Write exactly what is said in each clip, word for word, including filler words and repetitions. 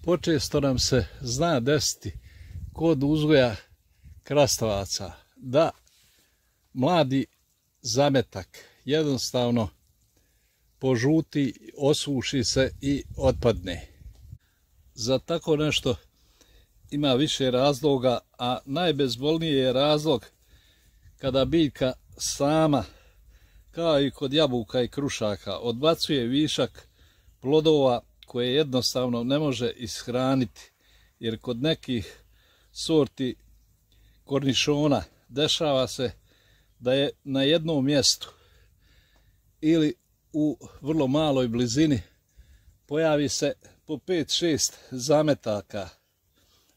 Počesto nam se zna desiti kod uzgoja krastavaca da mladi zametak jednostavno požuti, osuši se i otpadne. Za tako nešto ima više razloga, a najbezbolniji je razlog kada biljka sama, kao i kod jabuka i krušaka, odbacuje višak plodova koje jednostavno ne može ishraniti, jer kod nekih sorti kornišona dešava se da je na jednom mjestu ili u vrlo maloj blizini pojavi se po pet šest zametaka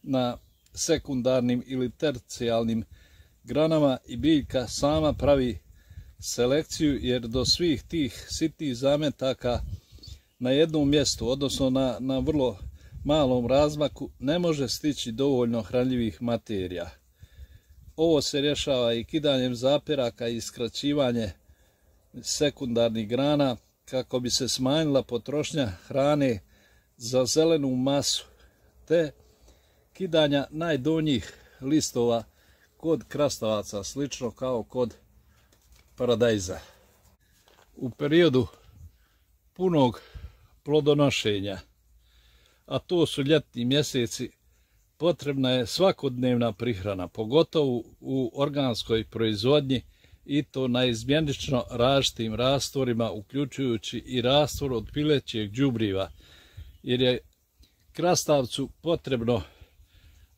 na sekundarnim ili tercijalnim granama i biljka sama pravi selekciju, jer do svih tih sitnih zametaka na jednom mjestu, odnosno na, na vrlo malom razmaku, ne može stići dovoljno hranljivih materija. Ovo se rješava i kidanjem zapiraka i skraćivanje sekundarnih grana kako bi se smanjila potrošnja hrane za zelenu masu, te kidanja najdonjih listova kod krastavaca, slično kao kod paradajza. U periodu punog plodonošenja, a to su ljetni mjeseci, potrebna je svakodnevna prihrana, pogotovo u organskoj proizvodnji, i to na izmjenično različitim rastvorima, uključujući i rastvor od pilećeg đubriva, jer je krastavcu potrebno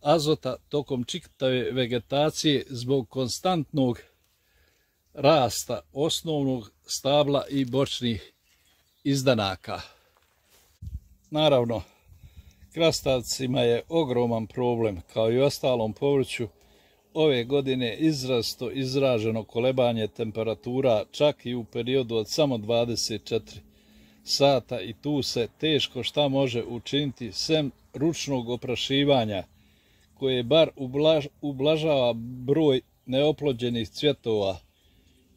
azota tokom čitave vegetacije zbog konstantnog rasta osnovnog stabla i bočnih izdanaka. Naravno, krastavcima je ogroman problem, kao i ostalom povrću, ove godine izrazito izraženo kolebanje temperatura, čak i u periodu od samo dvadeset četiri sata, i tu se teško šta može učiniti sem ručnog oprašivanja, koje bar ublaž, ublažava broj neoplođenih cvjetova,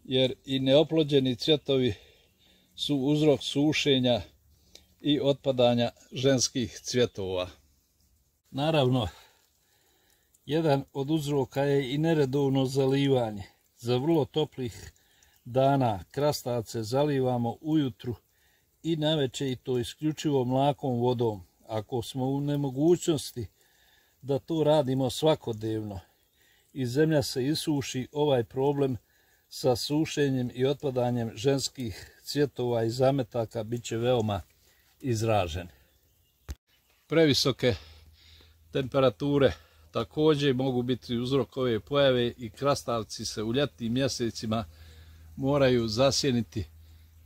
jer i neoplođeni cvjetovi su uzrok sušenja i otpadanja ženskih cvjetova. Naravno, jedan od uzroka je i neredovno zalivanje. Za vrlo toplih dana krastavce zalivamo ujutru i navečer, i to isključivo mlakom vodom. Ako smo u nemogućnosti da to radimo svakodnevno i zemlja se isuši, ovaj problem sa sušenjem i otpadanjem ženskih cvjetova i zametaka bit će veoma izražen. Previsoke temperature također mogu biti uzrok ove pojave i krastavci se u ljetnim mjesecima moraju zasjeniti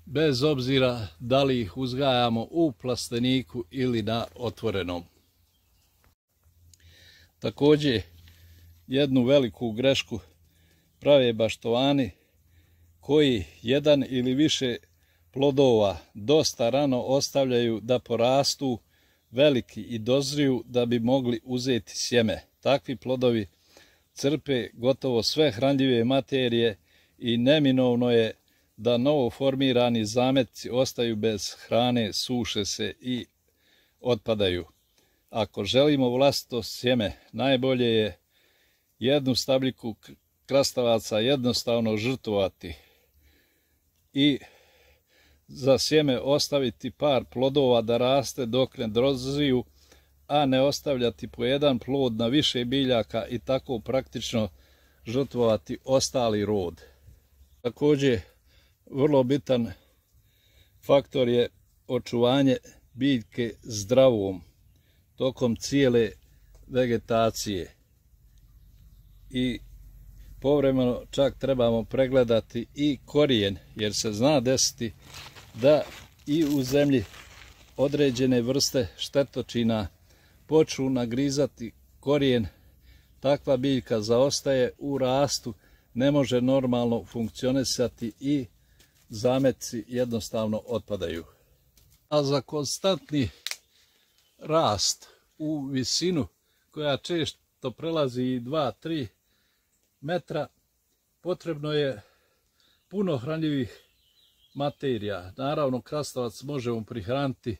bez obzira da li ih uzgajamo u plasteniku ili na otvorenom. Također jednu veliku grešku prave baštovani koji jedan ili više plodova dosta rano ostavljaju da porastu veliki i dozriju da bi mogli uzeti sjeme. Takvi plodovi crpe gotovo sve hranljive materije i neminovno je da novo formirani zametci ostaju bez hrane, suše se i otpadaju. Ako želimo vlastito sjeme, najbolje je jednu stabljiku krastavaca jednostavno žrtvovati i za sjeme ostaviti par plodova da raste dok ne dozriju, a ne ostavljati po jedan plod na više biljaka i tako praktično žrtvovati ostali rod. Također, vrlo bitan faktor je očuvanje biljke zdravom tokom cijele vegetacije i povremeno čak trebamo pregledati i korijen, jer se zna desiti da i u zemlji određene vrste štetočina počnu nagrizati korijen. Takva biljka zaostaje u rastu, ne može normalno funkcionisati i zametci jednostavno otpadaju. A za konstantni rast u visinu, koja često prelazi i dva do tri metra, potrebno je puno hranljivih materija. Naravno, krastavac možemo prihraniti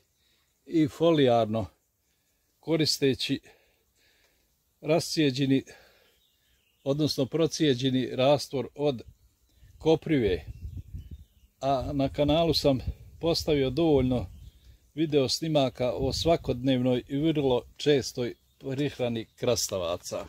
i folijarno koristeći rascijeđeni, odnosno procijeđeni rastvor od koprive. A na kanalu sam postavio dovoljno video snimaka o svakodnevnoj i vrlo čestoj prihrani krastavaca.